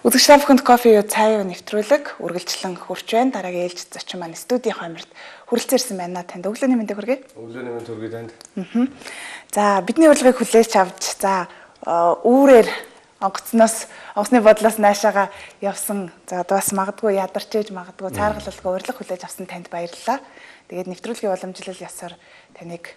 Үзэгч та бүхэнд кофе юу цай юу нэвтрүүлэг үргэлжлэн хүрч байна. Дараагийн ээлж зочин маань студийн хойморт хүрэлцээрсэн байна. Танд өглөөний мэндийг хүргэе. Өглөөний мэнд хүргэе танд. За бидний урилгыг хүлээж авч үүрээр онгоцны бодлоос наашаага явсан. За одоо бас магадгүй ядарч ээж магадгүй цааргалалгүй урилга хүлээж авсан танд баярлалаа. Тэгээд нэвтрүүлгийн уламжлал ясаар таныг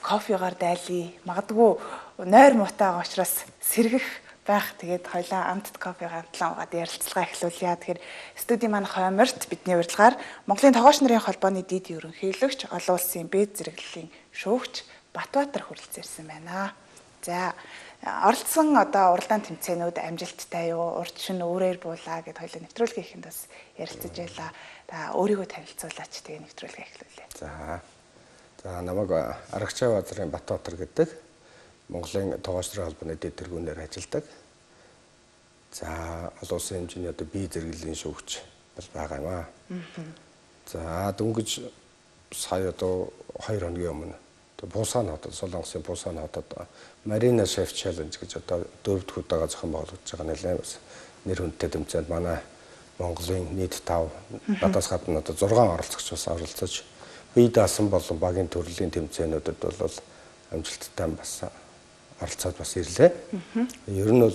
кофегаар дайлий. Магадгүй нойр муутайгаа учраас сэргэх байх. Тэгээд хоёлаа амтд кофегаа хамтлан уугаад ярилцлага эхлүүлье. Тэгэхээр студийн маань хойморт бидний урилгаар Монголын тогооч нарын холбооны дид ерөнхийлөгч, олон улсын бэд зэрэглэлийн шүүгч Батбаатар хүрэлцээрсэн байна. За оролцсон уралдаан тэмцээнүүд амжилттай юу? Урд шин өөрөөр буулаа гэд хоёлаа нэвтрүүлгийн ихэнд бас ярилцаж байлаа. Та өөрийгөө танилцуулаач тэгээ нэвтрүүлгээ эхлүүлье. За намайг Аргачаа базарын Батбаатар гэдэг Монголын тогооч нарын холбооны дэд тэргүүнээр ажилладаг. За олон улсын хэмжээний бие зэрэглэлийн шүүгч байгаа юм аа. За дөнгөж сая 2 хоногийн өмнө Бусан хотод Солонгосын Бусан хотод Marina Chef Challenge гэж 4-р удаага зохион байгуулагдж байгаа нэлээд бас нэр хүндтэй тэмцээнд манай Монголын нийт 5 надаас гадна 6 оролцогч бас оролцож бие даасан болон багийн төрлийн тэмцээнүүдэд бол амжилттай бас оролцоод бас ирлээ. Ер нь бол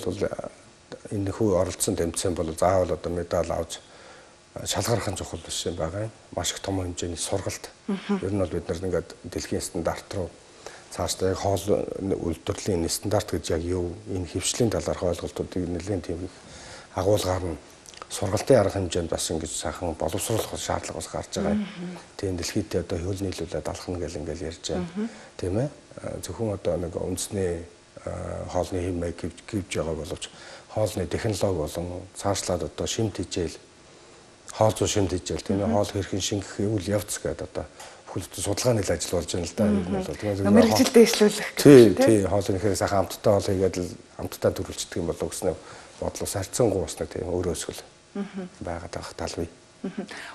энэ хүү оролцсон тэмцээн бол заавал медаль авч шалгарах чухал биш юм байгаа юм. Маш их том хэмжээний сургалт. Ер нь бол бид нар ингээд дэлхийн стандарт руу цаашдаа хоол үйлдвэрлэлийн стандарт гэж яг юу энэ хөвчлийн талаарх ойлголтуудыг нэлээд тийм их агуулгаар нь сургалтын арга хэмжээнд бас ингэж сайхан боловсруулах шаардлага бас гарч байгаа юм. Тийм дэлхийд хөл нийлүүлээд алхна гэл ингээл ярьж байна. Тийм ээ. Зөвхөн нэг үндэсний хоолны хэмээг гэвж байгаа боловч хоолны технологи болон цаашлаад шимт хижээл хоол зүй шимт хижээл тийм ээ хоол хэрхэн шингэх үйл явц гэдэг бүхэл судалгааны ажил болж байна л да. Мэргэжилтэд дэвшлүүлэх. Тий, хоолны хэрэг сайхан амттай хоол хийгээд л амттай төрүүлчихдэг юм болов гэснээр бодлоос харьцангуй бас нэг тийм өөрөө өсгөл байгаад байх тал бий.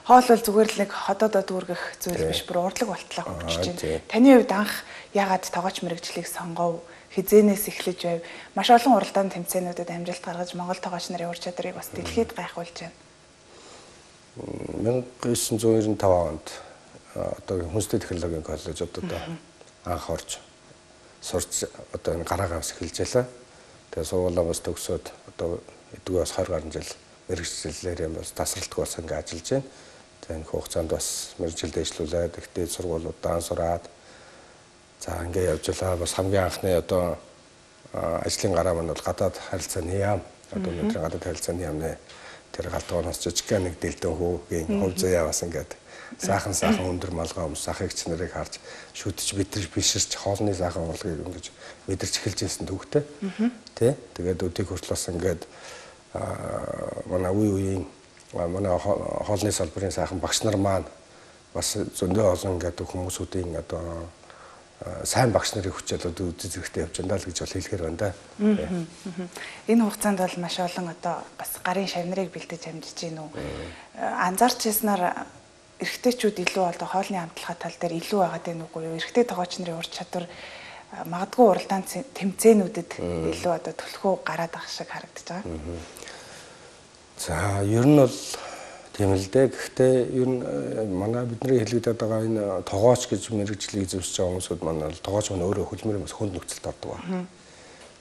Хоол бол зүгээр л нэг ходоодоо дүүргэх зүйл биш, бүр урдлаг болтлоо хөгжиж байна. Таны хувьд анх яагаад тогооч мэргэжлийг сонгов? Хизээнээс эхлэж байв. Маш олон уралдаан тэмцээнүүдэд амжилт гаргаж Монгол тогооч нарын ур чадрыг бас дэлхийд гайхуулж байна. 1995 онд хүнстэй технологийн коллежид анх орж сурч энэ гараагаас эхэлж байлаа. Тэгээ сургуулаа бас төгсөөд эдгээр бас 20 гаруй жил мэргэжлэлээр юм бас тасралтгүй бас ингэ ажиллаж байна. За энэ хугацаанд бас мэргэжилд ажиллуулаад ихтэй сургуулиудаа сураад за ингэ явж байлаа. Бас хамгийн анхны ажлын гараа маань бол гадаад харилцааны яам. Өнөөдөр гадаад харилцааны яамны тэр галтгооноос жижиг нэг дэлдэн хүүгийн хөв заяа бас ингээд саахан өндөр малгай өмс ахыгч нарыг харж шүтж битрж биширч хоолны саахан урлагийг ингэж мэдэрч эхэлж ирсэн төвхтэй. Тэ тэгээд өдийг хүртэл бас ингээд манай үеийн манай хоолны салбарын сайхан багш нар маань бас зөндөө олон ингээд хүмүүсүүдийн сайн багш нарын хүчээр үзэж зэрэгтэй явж байна л гэж бол хэлэхээр байна да. Энэ хугацаанд бол маш олон бас гарын шавнарыг бэлдэж амжиж гин үү. Анзаарч яснаар эрэгтэйчүүд илүү хоолны амтлагаа тал дээр илүү байгаад байна уугүй юу? Эрэгтэй тогооч нарын ур чадвар магадгүй уралдаан тэмцээнүүдэд илүү төлхөө гараад байгаа шиг харагдаж байгаа. За ер нь бол тийм л дээ. Гэхдээ ер нь манай бидний хэлэгдэт байгаа энэ тогооч гэж мэргэжлийг зөвшөөрч байгаа хүмүүсүүд манай тогооч маань өөрөө хөлмөрийн бас хүнд нөхцөлд ордог байна.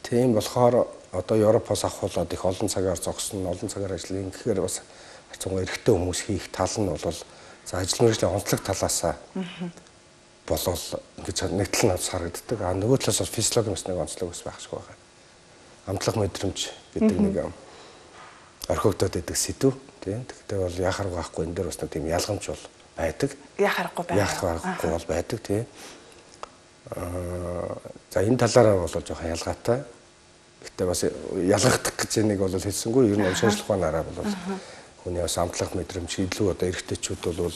Тийм болохоор Европоос авахуулаад их олон цагаар зогсон, олон цагаар ажиллана. Гэхээр бас харцангуй эрэгтэй хүмүүс хийх тал нь бол за ажил мэргэжлийн онцлог талаасаа болол ингэж нэг тал нь харагддаг. Нөгөө талаас бас физиологийн бас нэг онцлог бас байх шиг байна. Амтлах мэдрэмж гэдэг нэг орхигдоод байдаг сэдв. Тэгтээ бол яхаар байхгүй энэ дээр бас нэг тийм ялгамж бол байдаг. Яхахгүй бол байдаг тий. За энэ талаараа бол жоохон ялгаатай. Гэтэ бас ялгагдах гэж нэг бол хэлсэнгүй ер нь шийдлэх банаараа бол хүний бас амтлах мэдрэмж илүү эрэгтэйчүүд бол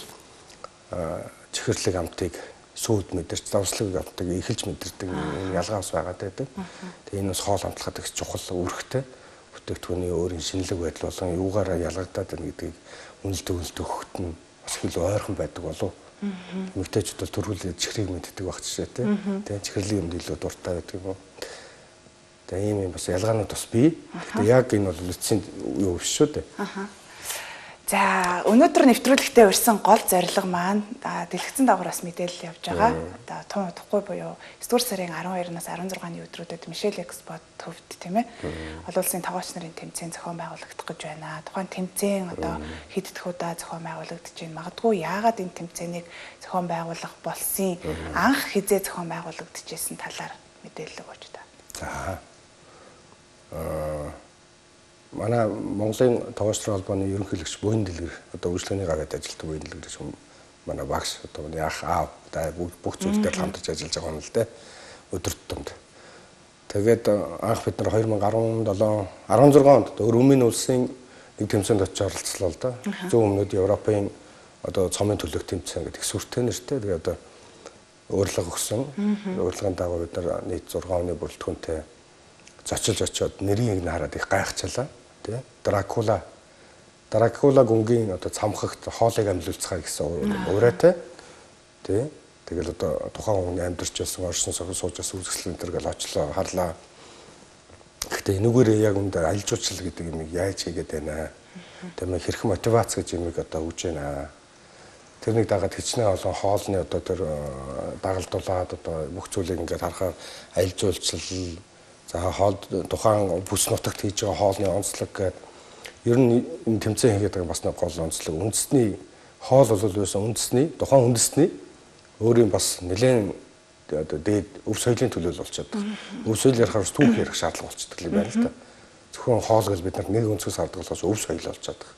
чихэрлэг амтыг сүйд мэдэрч давслаг амтыг эхэлж мэдэрдэг энэ ялгаа бас байгаад байдаг. Тэгээ энэ бас хоол амтлахад их чухал үүрэгтэй. Бүтээгдэхүүний өөрийн шинэлэг байдал болон юугаараа ялгагдаад байна гэдгийг үнэлдэг өгөхт нь бас их ойрхон байдаг болов. Эмэгтэйчүүд бол төрүүлээд чихрийг мэддэг байх жишээ тий. Чихэрлэг юмд илүү дуртай байдаг юм уу. Тэгээ ийм бас ялгаанууд бас бий. Гэхдээ яг энэ бол эцсийн юу биш шүү дээ. За өнөөдөр нэвтрүүлэгтээ урьсан гол зорилго маань дэлгэцэн дагуур бас мэдээлэл явж байгаа. Одоо тун удахгүй буюу 9 дугаар сарын 12-наас 16-ны өдрүүдэд Мишель Экспот төвд тийм ээ. Олон улсын тогооч нарын тэмцээн зохион байгуулагдах гэж байна. Тухайн тэмцээн одоо хэд дэх удаа зохион байгуулагдаж байна. Магадгүй яагаад энэ тэмцээнийг зохион байгуулах болсон анх хизээ зохион байгуулагдаж исэн талаар мэдээлэл өгөөч та. За манай Монголын тогооч нар холбооны ерөнхийлөгч Буян Дэлгэр одоо үйлчлэгээний гараад ажилладаг Буян Дэлгэр шиг манай багш одоо яах аав бүх зүйлээр хамтарч ажиллаж байгаа юм л дээ өдөр тутамд. Тэгээд анх бид нар 2017 16 онд Румын улсын нэг тэмцээнд очиж оролцлоо л да. Зүүн өмнөд Европын одоо цомын төлөв тэмцээн гэдэг сүртэй нэртэй. Тэгээд одоо урилга өгсөн. Урилгын дагуу бид нар нийт 6 оны бүрэлдэхүүнтэй зочилж очиод нэрийг хараад их гайхчихлаа. Тэ Дракула гүнгийн одоо цамхагт хоолыг амьлуулцгаа гэсэн ураатай. Тэ тэгэл одоо тухайн хүн амьдарч байсан оршин суужаас үзэсгэлэн энэ гэл очлоо харлаа. Гэхдээ энүүгээр яг үндэ аль жуулчлал гэдэг юм яаж хийгээд байна. Тэ хэрхэн мотивац гэж юм одоо өгж байна. Тэрнийг дагаад хичнээн олон хоолны одоо тэр дагалдуулаад одоо бүх зүйлийг ингээд харахаар аль жуулчлал за хоол тухайн бүс нутагт хийж байгаа хоолны онцлог гэдэг ер нь энэ тэмцээн хийгээд байгаа бас нэг гол онцлог үндэсний хоол бол байсан үндэсний тухайн үндэсний өөрийн бас нэлээд одоо дээд өв соёлын төлөөлөл болчиход байна. Өв соёл ярихаар түүх ярих шаардлага болчихдог юм байна л да. Зөвхөн хоол гэж бид нар нэг өнцгөөс хардаг болохоос өв соёл болчиход байгаа.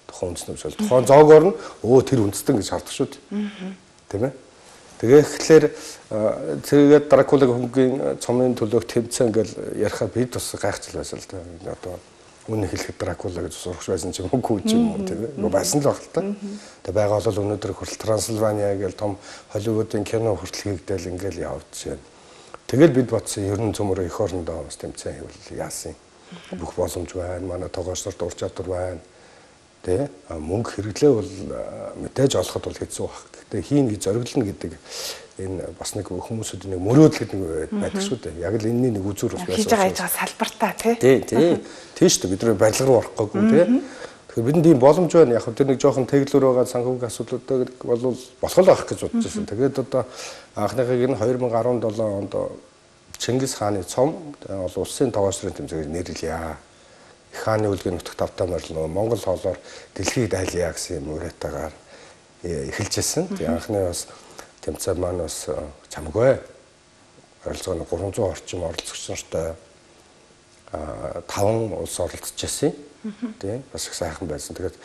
Тухайн үндэсний өв соёл. Тухайн зоогоор нь тэр үндэстэн гэж хардаг шүү дээ. Тийм ээ. Тэгэхээр тэгээд Дракула гүнгийн цомын төлөөх тэмцээн гэл ярихаар бид бас гайхчихлаа байсан л да. Одоо үнэ хэлэхэд Дракула гэж сурах байсан ч юм уу ч юм уу тийм ээ. Байсан л баг л та. Тэгээд байгаа бол өнөөдөр хүртэл Трансильвания гэл том Холливуудын кино хүртэл хийгдэл ингээл явж байна. Тэгэл бид бодсон ер нь цөмөр эх орондоо бас тэмцээн хийвэл яасан. Бүх боломж байна. Манай тогооч нарт ур чадвар байна. Тэ мөнгө хэрэглээ бол мэдээж олоход бол хэцүү баг. Гэхдээ хийн гэж зориглоно гэдэг энэ бас нэг хүмүүсүүд нэг мөрөөдөл гэдэг нэг байдаг шүү дээ. Яг л энэний нэг үзүүр бас байсан. Хийж байгаа салбартаа тий. Тийм шүү дээ. Бид нар барилга руу орох гээгүй тий. Тэгэхээр бидэнд ийм боломж байна. Яг тэр нэг жоохон тэглүүр байгаа санхүүгийн асуудлуудаа бол болох л байх гэж бодож байсан. Тэгээд одоо анхныхыг нь 2017 онд Чингис хааны цом олон улсын тогооч нарын тэмцээгээр нэрлэе. Их хааны үлгийн нутагт автаа морил Монгол хоолоор дэлхийд айлъя гэсэн юм уриатаагаар эхэлжсэн. Тэгээ анхны бас тэмцээн маань бас чамгүй оролцооны 300 орчим оролцогч нартай 5 улс оролцож байсан. Тийм бас их сайхан байсан. Тэгээд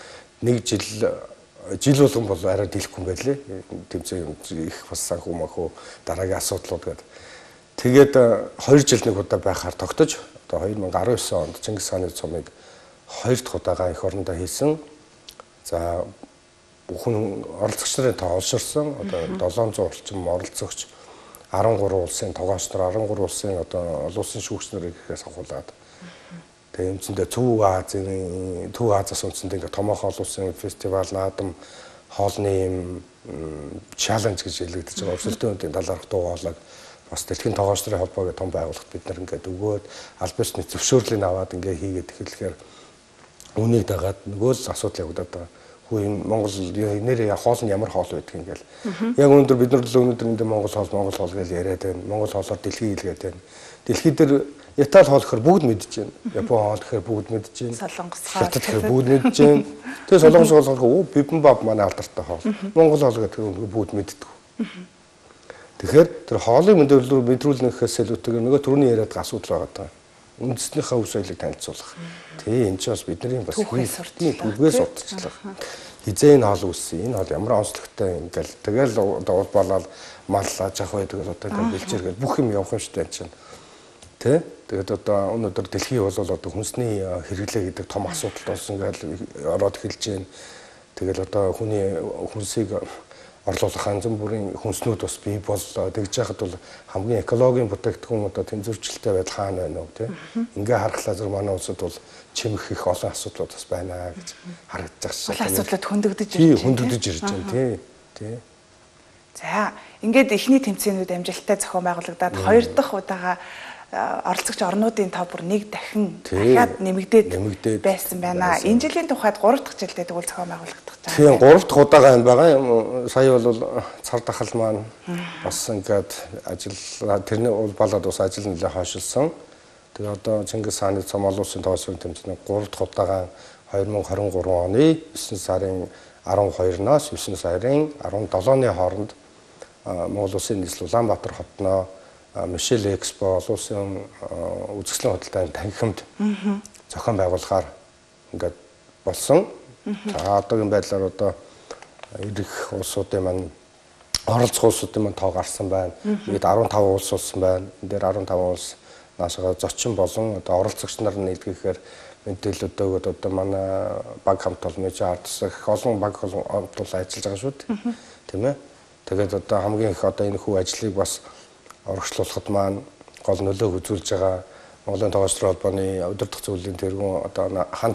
нэг жил болгон бол арай дийлэхгүй юм байлээ. Тэмцээн их бас санхүү махуу дараагийн асуудлууд гэдэг. Тэгээд 2 жил нэг удаа байхаар тогтож одоо 2019 онд Чингис хааны цомыг 2 дахь удаага эх орондоо хийсэн. За бүхэн оролцогч нарын тоо олширсан. Одоо 700 орчим оролцогч 13 улсын тогооч нар 13 улсын одоо олон улсын шүүгч нарыг ихээс авахулаад. Тэгээ юмцэндээ Төв Азиас үндэсэндээ ингээ томоохон олон улсын фестивал наадам хоолны юм чаленж гэж хэлэгдэж байгаа. Өрсөлдөөн үеийн талаарх дуу хоолойг бас дэлхийн тогооч нарын холбоогийн том байгууллагт бид нар ингээд өгөөд аль бишний зөвшөөрлийг аваад ингээ хийгээд эхлэхээр үнийг дагаад нөгөө л асуудал явагдаад байгаа. Хүү энэ Монгол нэр хоол нь ямар хоол байдаг юм гээл. Яг өнөөдөр бид нар л өнөөдөр энэ Монгол хоол гэж яриад байна. Монгол хоолоор дэлхий хэлгээд байна. Дэлхий дээр Итали хоол гэхээр бүгд мэдж байна. Япон хоол гэхээр бүгд мэдж байна. Солонгос хоол гэхээр бүгд мэдж байна. Тэгээ солонгос хоол гэхээр бибимбап манай алдартай хоол. Монгол хоол гэдэг бүгд мэддэг. Тэгэхээр тэр хоолыг мэдрүүлнэхээс илүүтэйгээр нөгөө түрүүний яриад асуудал байгаа даа. Үндэснийхээ өв соёлыг танилцуулах. Тэ энэ ч бас бидний бас түүхээс урдчлах. Хизээ энэ хоол үүссэн. Энэ хоол ямар онцлогтой ингээл тэгэл одоо болоод мал аж ах байдаг одоо ингээл бэлчээргээл бүх юм явах юм шүү дээ чинь. Тэ? Тэгээд одоо өнөөдөр дэлхий бол одоо хүнсний хэрэглээ гэдэг том асуудал болсон ингээл ороод эхэлж байна. Тэгэл одоо хүний хүнсийг орлуулах янз бүрийн хүнснүүд бас бий боллоо. Тэгж яхад бол хамгийн экологийн бүтээгдэхүүн одоо тэнцвэрчлэлтэй байдал хаана байна вэ тий? Ингээ харахлаа зөв манай улсад бол чимэх их олон асуудлууд бас байна гэж харагдаж байгаа шээ. Асуудлууд хөндөгдөж ирж байна. Хөндөгдөж ирж байна тий. За, ингээд эхний тэмцээнүүд амжилттай зохион байгуулагдаад хоёр дахь удаага оролцогч орнуудын тоо бүр нэг дахиад нэмэгдээд байсан байна. Энэ жилийн тухайд 3 дахь жилдээ тэгвэл зохион байгуулагдах гэж байна. Тийм 3 дахь удаага энэ байгаа юм. Сая бол цар тахал маань бас ингээд ажил тэрний болоод бас ажил нэлээ хойшилсан. Тэгээ одоо Чингис хааны цом олон улсын тоглоомын тэмцээний 3 дахь удаага 2023 оны 9 сарын 12-наас 9 сарын 17-ны хооронд Монгол Улсын нийслэл Улаанбаатар хотноо Мишель Экспо олон улсын үзэсгэлэн худалдааны танхимд зохион байгуулахаар ингээд болсон. За одоогийн байдлаар одоо ирэх улсуудын маань оролцох улсуудын маань тоо гарсан байна. Бид 15 улс болсон байна. Энэ дээр 15 улс наашаа зочин болон одоо оролцогч нар нийлгэхээр мэдээлэл өгөөд одоо манай баг хамт олон ардс их олон баг хамт олон ажиллаж байгаа шүү дээ. Тийм ээ. Тэгээд одоо хамгийн их одоо энэ хүү ажлыг бас урагшлуулахад маань гол нөлөө үзүүлж байгаа Монголын тоглогчдын холбооны удирдах зөвлөлийн тэргүүн одоо хан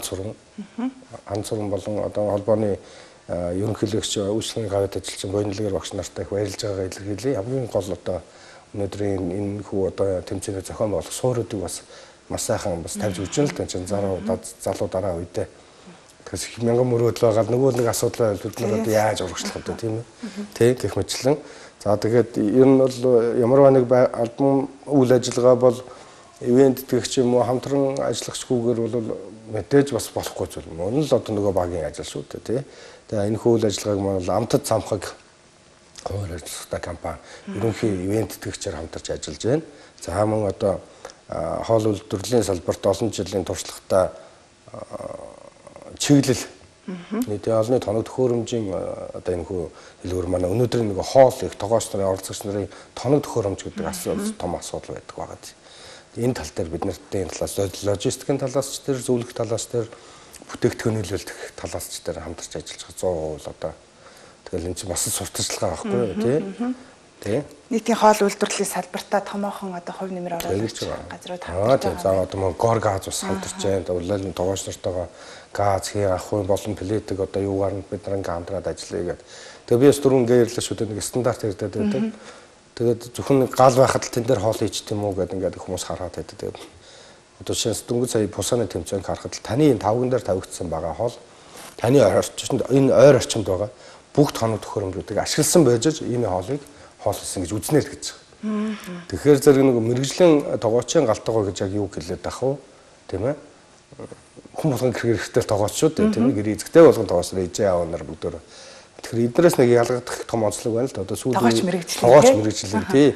цуран болон одоо холбооны ерөнхийлөгч үйлчлэгийн гавьд ажиллаж Боёнлогер багш нартай их баярлж байгаагаа илэрхийлье. Хамгийн гол одоо өнөөдрийн энэ хүү одоо тэмцээний зохион байгуулах суурьуудыг бас маш сайхан бас тавьж өгч байна л да чинь залуу дараа үедээ. Тэгээс их мянган мөрөөдөл байгаа нөгөө нэг асуудал бид нар одоо яаж урагшлах вэ тийм ээ. Тэг гэх мэтлэн. За тэгээд ер нь бол ямар нэг албан үйл ажиллагаа бол ивент тэгч юм уу хамтран ажиллагчгүйгээр бол мэдээж бас болохгүй зүйл. Мөн л одоо нөгөө багийн ажил шүү дээ тий. Тэгээ энэ үйл ажиллагааг маань амтд самхаг хууль ажиллагатай компани ерөнхий ивент тэгчээр хамтарч ажиллаж байна. За мөн одоо хоол үйлдвэрлэлийн салбарт олон жилийн туршлагатай чиглэл нийтийн олонний тоног төхөөрөмжийн одоо энэ хүү хэлбэр манай өнөөдөр нэг хоол их тогооч нарын оролцогч нарын тоног төхөөрөмж гэдэг асуудал том асуудал байдаг байгаа. Энэ тал дээр бид нартын талаас логистикийн талаас ч тэр зөвлөх талаас тэр бүтээгдэхүүн нийлүүлэх талаас ч тэр хамтарч ажиллаж байгаа 100% одоо тэгэл энэ чинь бас сурталчилгаа байхгүй юу тий. Нийтийн хоол үйлдвэрлэлийн салбартаа томоохон одоо хувь нэмэр оруулагч газрууд хамтарч байгаа. За одоо мөн гор газ бас хамтарч байна. Улаалын тогооч нартайгаа газ хий ахуй болон плетиг одоо юугаар нь бид нар ингээм хамтраад ажиллая гэдэг. Тэгээ би бас дөрвөн гэрэлж шүү дээ нэг стандарт ирдээд байдаг. Тэгээд зөвхөн гал байхад л тэн дээр хоол хийчих юм уу гэдэг ингээд хүмүүс хараад байдаг. Тэгээд одоо шинэ дөнгөж сая бусааны тэмцээнг харахад л таны энэ тавган дээр тавигдсан байгаа хоол таны орчинд энэ ойр орчинд байгаа бүгд тоног төхөөрөмжүүдийг ашигласан байж энэ хоолыг хоол хийсэн гэж үзнэ л гэж байна. Тэгэхээр зэрэг нэг мэрэгжлийн тогоочийн галтгоо гэж яг юу хэлээд ах вэ? Тийм ээ. Хүн болгон хэрэгтэй тогооч шүү дээ. Тийм ээ. Гэр эзэгтэй болгон тогооч ээжээ аав нар бүгдөө. Тэгэхээр эднээс нэг ялгагдах том онцлог байна л да. Одоо сүүлийн тогооч мэрэгжлийн тий.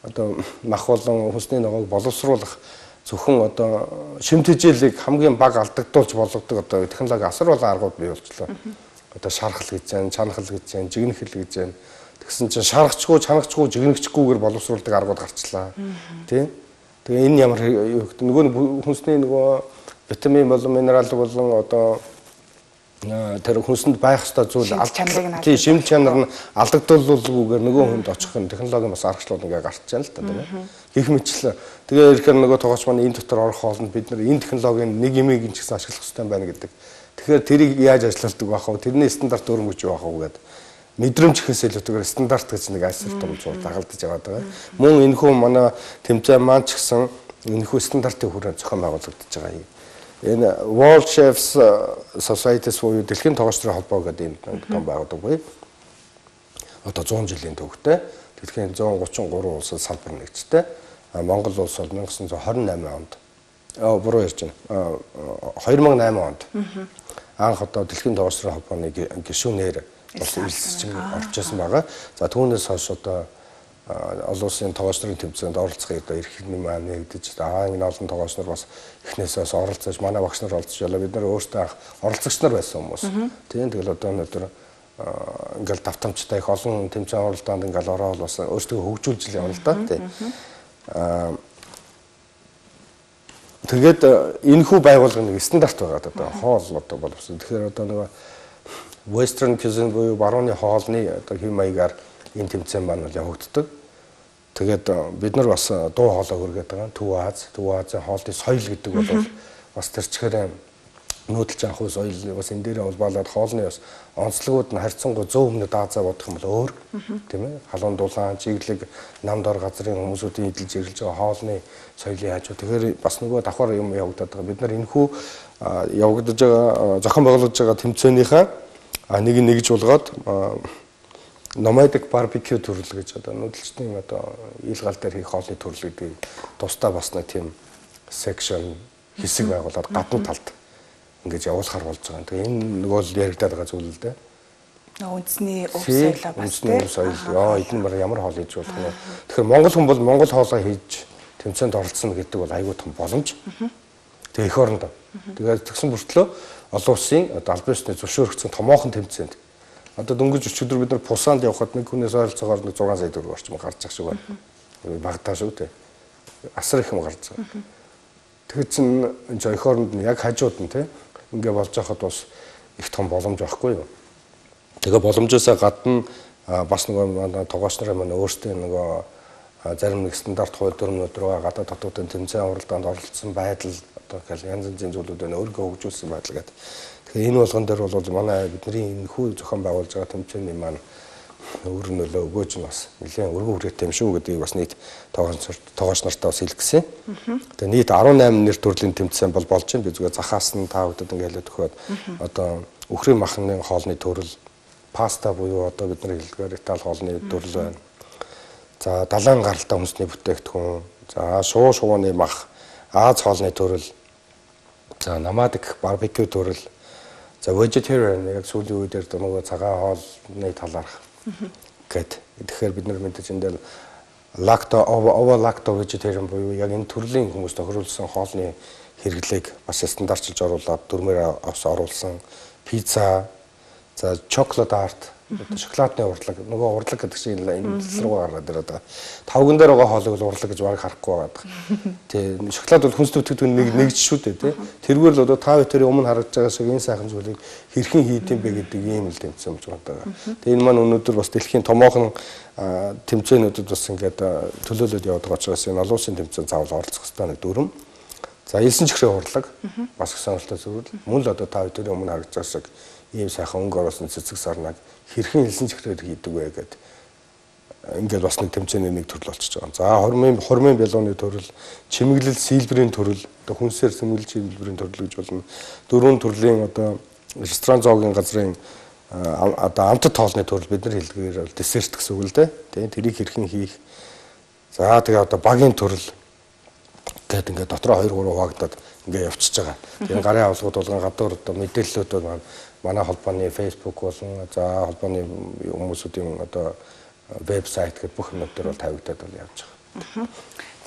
Одоо мах болон хүнсний ногоог боловсруулах зөвхөн одоо шимт хичээлийг хамгийн бага алдагдуулж болгодог одоо технологи асар болон аргууд бий болчихлоо. Одоо шархал гэж байна, чанахал гэж байна, жигнэхэл гэж байна. Тэгсэн чинь шаргачгүй, чанагчгүй, жигнэгчгүйгээр боловсруулдаг аргууд гарчлаа. Тий? Тэгээ энэ ямар нөгөө хүнсний нөгөө витамин болон минерал болон одоо тэр хүнсэнд байх ёстой зүйл тий шимт чанар нь алдагдуулгүйгээр нөгөө хүнд очих нь технологийн бас аргачлал ингээ гарч байна л та тийм ээ. Гэх мэтлээ. Тэгээ ирэхээр нөгөө тогооч маань энэ дотор орох хоолнд бид нар энэ технологийн нэг юмыг ч гэсэн ашиглах хэрэгтэй байна гэдэг. Тэгэхээр тэрийг яаж ажилладаг байх вэ? Тэрний стандарт өрөнгөж байх вэ гэдэг. Мэдрэмж ихээс илүүтэйгээр стандарт гэж нэг асар том зүйл дагалдаж яваад байгаа. Мөн энэ хүн манай тэмцээн маань ч гэсэн энэ хүн стандартын хүрээнд зохион байгуулагдаж байгаа юм. Энэ World Chefs Society-с буюу дэлхийн тогоочдын холбоо гэдэг энэ том байгууллага. Одоо 100 жилийн төвхтэй дэлхийн 133 улсад салбар нэгжтэй. Монгол улс бол 1928 онд буруу ярьж байна. 2008 онд анх одоо дэлхийн тогоочдын холбооны гишүүнээр бас үйлсчин орж ирсэн байгаа. За түүнээс хойш одоо олон улсын тогоочдын тэмцээнд оролцохыг одоо эрх хэний маань нэгдэж энэ олон тогооч нар бас эхнээсээ оролцож манай багш нар оролцож ялаа бид нар өөрсдөө оролцогч нар байсан хүмүүс. Тийм тэгэл одоо өнөөдөр ингээл давтамжтай их олон тэмцээн оролдоонд ингээл ороод бас өөрсдөө хөгжүүлж явна л да тийм. Тэгээд энэ хүү байгуулгын нэг стандарт байгаа одоо хоол одоо боловсон. Тэгэхээр одоо нөгөө Western cuisine буюу барууны хоолны одоо хэм маягаар энэ тэмцээн маань явагддаг. Тэгээд бид нар бас дуу хоолой хүргээд байгаа. Төв Азийн хоолны соёл гэдэг бол бас тэр чихээр нүүдэлж анх ус соёл бас энэ дээрээ улбаалаад хоолны бас онцлогуд нь харьцангуй 100 өмнө даазаа бодох юм бол өөр тийм ээ халуун дулаан чиглэг нам дор газрын хүмүүсүүдийн эдэлж ирэлж байгаа хоолны соёлын хажуу тэгэхээр бас нөгөө давхар юм явагдаад байгаа бид нар энэхүү явагдаж байгаа зохион байгуулж байгаа тэмцээнийхээ нэг нэгж болгоод nomadic barbecue төрөл гэж одоо нүүдэлчдийн одоо ил гал дээр хийх хоолны төрөл гэдэг тусдаа бас нэг тийм section хэсэг байгуулад гадна талд ингэж явуулахар болж байгаа. Тэгээ энэ нөгөө л яригадаад байгаа зүйл л дээ. Үндэсний өв соёлоо бас тийм соёл. Эдгээр мөр ямар хоол хийж болох вэ? Тэгэхээр монгол хүн бол монгол хоолоо хийж тэмцээнд оролцсон гэдэг бол аюул том боломж. Тэгээ эх орондоо. Тэгээд тэгсэн бүртлөө олон улсын одоо албан ёсны зөвшөөрөгдсөн томоохон тэмцээнд одоо дөнгөж өчигдөр бид нар Пусанд явхад нэг хүнээс ойролцоогоор 6 сая төгрөг орчим гарч ах шиг байна. Багтаа шүү дээ. Асар их юм гарч байгаа. Тэгэхээр чин энэ эх оронд нь яг хажууд нь тийм ингээ болж байхад бас их том боломж байхгүй юу. Тэгээ боломжоосоо гадна бас нөгөө тогооч нарын маань өөрсдөө нөгөө зарим нэг стандарт хууль дүрмнүүд рүү гадаад дотоодын тэмцээн уралдаанд оролцсон байдал одоо янз янзын зүйлүүдээ өөргөө хөгжүүлсэн байдал гэдэг. Тэгэхээр энэ болгон дээр бол манай бидний энэ хүү зохион байгуулж байгаа тэмцээний маань өөр нөлөө өгөөж нь бас нэлээд өргөн хүрээтэй юм шүү гэдгийг бас нийт тогооч нартаа бас хэлгэсэн. Тэгээ нийт 18 нэр төрлийн тэмцээн бол болж байна. Би зүгээр захаас нь та бүдэд ингээ хэлээд өгөхөд одоо үхрийн махны хоолны төрөл, паста буюу одоо бидний хэлдгээр Итали хоолны төрөл байна. За далайн гаралтай хүнсний бүтээгдэхүүн, за шуу шувууны мах, Аз хоолны төрөл, за nomadic barbecue төрөл, за vegetarian яг сүүлийн үеэр нөгөө цагаан хоолны талаарх гэд. Тэгэхээр бид нар мэдээж энэ дээр lacto vegetarian буюу яг энэ төрлийн хүмүүс тохируулсан хоолны хэрэглээг бас стандартчилж оруулаад дүрмээр оруулсан пицца, за chocolate art, шоколадны урлаг, нөгөө урлаг гэдэг чинь энэ руу гараад ирээд байгаа. Тавган дээр байгаа хоолыг л урлаг гэж бараг харахгүй байгаа. Тэ шоколад бол хүнс төвтгүүд нэгж шүү дээ, тэ. Тэргээр л одоо та бүхэн өмнө харагдж байгаа шиг энэ сайхан зүйлийг хэрхэн хийдэм бэ гэдэг ийм л тэмцээн болж байгаа. Тэгээ энэ маань өнөөдөр бас дэлхийн томоохон тэмцээнүүдэд бас ингээд төлөөлөд яваад байгаа учраас энэ олон улсын тэмцээн заавал оролцох хэрэгтэй нэг дүрм. За элсэн чихрийн урлаг бас их сонирхолтой зүйл. Мөн л одоо та бүхэн өмнө харагдж байгаа шиг ийм сайхан өнгө оруулсан цэцэг сарнаг хэрхэн элсэн чихрээр хийдэг вэ гэдэг ингээд бас нэг тэмцээний нэг төрөл болчихж байгаа. За хормын бялууны төрөл, чимэглэл сэлбэрийн төрөл, одоо хүнсээр сэмгэлж сэлбэрийн төрөл гэж болно. Дөрвөн төрлийн одоо ресторан зоогийн газрын одоо амтд хоолны төрөл бид нар хэлдгээр бол десерт гэсэн үг л дээ. Тийм тэрийг хэрхэн хийх. За тэгээ одоо багийн төрөл гэдэг ингээд дотроо 2 3 хуваагдаад ингээд явчихж байгаа. Тэгээ гарын авалгууд болгон гадуур одоо мэдээллүүд маань манай холбооны Facebook болон за холбооны хүмүүсүүдийн одоо вебсайт гэх бүх юмнууд дээр бол тавигдаад бол явж байгаа.